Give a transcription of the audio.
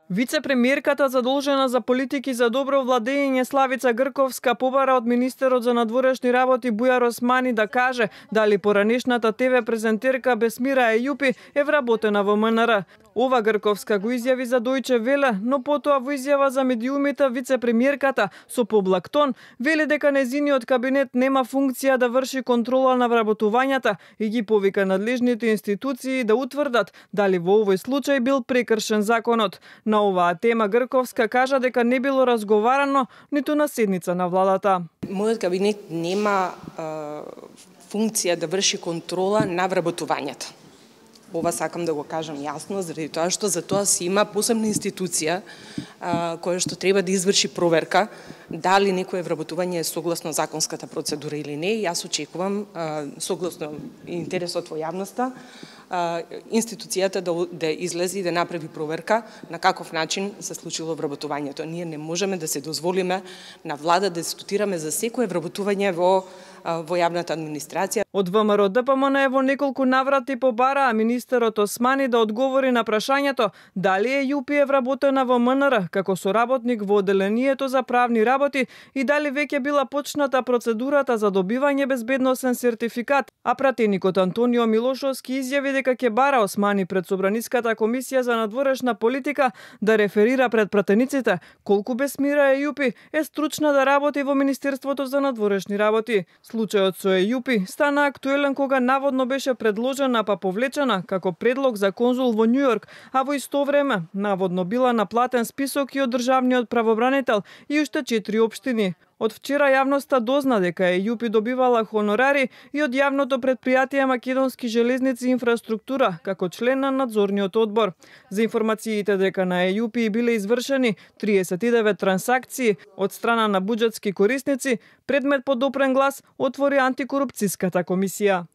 Вице-премиерката задолжена за политики за добро владење Славица Грковска побара од министерот за надворешни работи Бујар Османи да каже дали поранешната ТВ презентерка Бесмира Ејупи е вработена во МНР. Ова Грковска го изјави за Дојче Веле, но потоа во изјава за медиумите вице-премиерката со поблак тон вели дека нејзиниот кабинет нема функција да врши контрола на вработувањата и ги повика надлежните институции да утврдат дали во овој случај бил прекршен законот. На оваа тема Грковска кажа дека не било разговарано ниту на седница на владата. Мојот кабинет нема функција да врши контрола на вработувањата. Ова сакам да го кажам јасно, заради тоа што за тоа си има посебна институција која што треба да изврши проверка дали некое вработување е согласно законската процедура или не. Јас очекувам, согласно интересот во јавноста, институцијата да излезе и да направи проверка на каков начин се случило вработувањето. Ние не можеме да се дозволиме на влада да дискутираме за секое вработување во јавната администрација. Од ВМРО ДПМН во неколку наврати побараа министерот Османи да одговори на прашањето дали Ејупи е вработена во МНР како соработник во одделението за правни работи и дали веќе била почната процедурата за добивање безбедносен сертификат, а пратеникот Антонио Милошовски изјави дека ќе бара Османи пред Собраниската комисија за надворешна политика да реферира пред пратениците колку Бесмира Ејупи е стручна да работи во Министерството за надворешни работи. Случајот со Ејупи стана актуелен кога наводно беше предложена па повлечена како предлог за конзул во Њујорк, а во исто време наводно била на платен список и од државниот правобранител и уште 4 општини. Од вчера јавноста дозна дека Ејупи добивала хонорари и од јавното претпријатие Македонски железници и инфраструктура како член на надзорниот одбор. За информациите дека на Ејупи биле извршени 39 трансакции од страна на буџетски корисници, предмет по допрен глас отвори антикорупцијската комисија.